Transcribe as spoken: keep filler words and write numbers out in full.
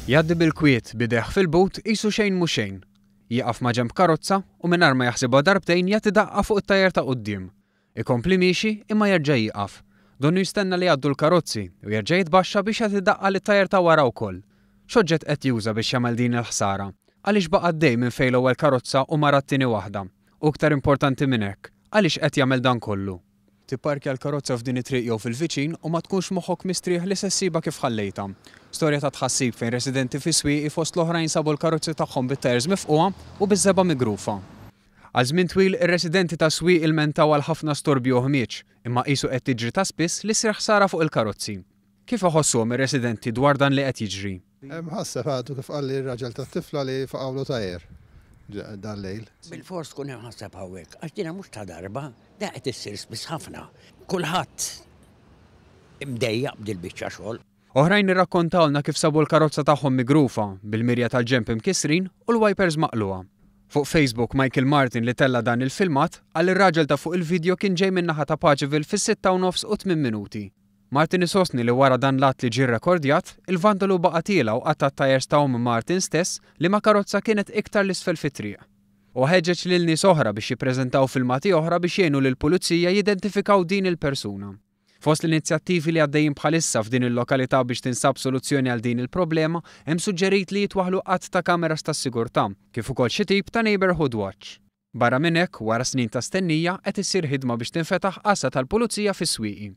Jgħaddi bil-kwiet b'idejh fil-but qisu xejn mhu xejn. Jieqaf ma' ġenb karozza u mingħajr ma jaħsibha darbtejn jagħti daqqa fuq it-tajer ta' quddiem. Ikompli miexi imma jerġa' jieqaf. Donnu jistenna li jgħaddu l-karozzi u jerġa' jitbaxxa biex jagħti daqqa lit-tajer ta' wara wkoll. X'oġġett qed juża biex jagħmel din il-ħsara? Għaliex baqa' għaddej minn fejn l-ewwel karozza u mara t-tieni waħda? U iktar importanti minn hekk, għaliex qed jagħmel dan kollu? Tipparkja l-karozza f'din it-triq jew fil-viċin u ma tkunx moħħok mistrieħ li se ssibha kif ħallejtha. Storja ta' tħassib fejn residenti fi Swieqi fost l-oħrajn sabu l-karozzi tagħhom bit-tajers mifqugħa u biż-żebgħa migrufa. Għal żmien twil ir-residenti ta' Swieqi ilmentaw għal ħafna storbju u ħmieġ, imma qisu qed tiġri ta' spiss li ssir ħsara fuq il-karozzi. Kif iħossuhom ir-residenti dwar dan li qed jiġri? Mħasseb għadu kif qalli r-raġel tat-tifla li faqgħulu tajer dal-lejl. Bil-fors tkun imħasseb hawnhekk, għax dina mhux ta' darba, da qed issir spiss ħafna. Kulħadd imdejjaq b'dil-biċċa xogħol. Oħrajn irrakkontawlna kif sabu l-karozza tagħhom migrufa, bil-mirja tal-ġenb imkissrin u l-wipers maqlugħa. Fuq Facebook, Michael Martin li tella dan il-filmat qal ir-raġel ta' fuq il-video kien ġej min-naħa ta' Paċeville fis-sitta u nofs u tmien minuti. Martin isostni li wara dan l-att li ġie rrekordjat, il-vandalu baqa' tiela' u qatta' t-tajers ta' omm Martin stess liema karozza kienet iktar 'l isfel fit-triq. U ħeġġeġ lil nies oħra biex jippreżentaw filmati oħra biex jgħinu lill-pulizija jidentifikaw din il-persuna. Fost l-inizjattivi li għaddejjin bħalissa f'din il-lokalità biex tinsab soluzzjoni għal din il-problema, hemm suġġerit li jitwaħħlu għadd ta' kameras tas-sigurtà, kif ukoll xi tip ta' neighborhood watch. Barra minn hekk, wara snin ta' stennija, qed issir ħidma biex tinfetaħ għassa tal-pulizija fis-Swieqi.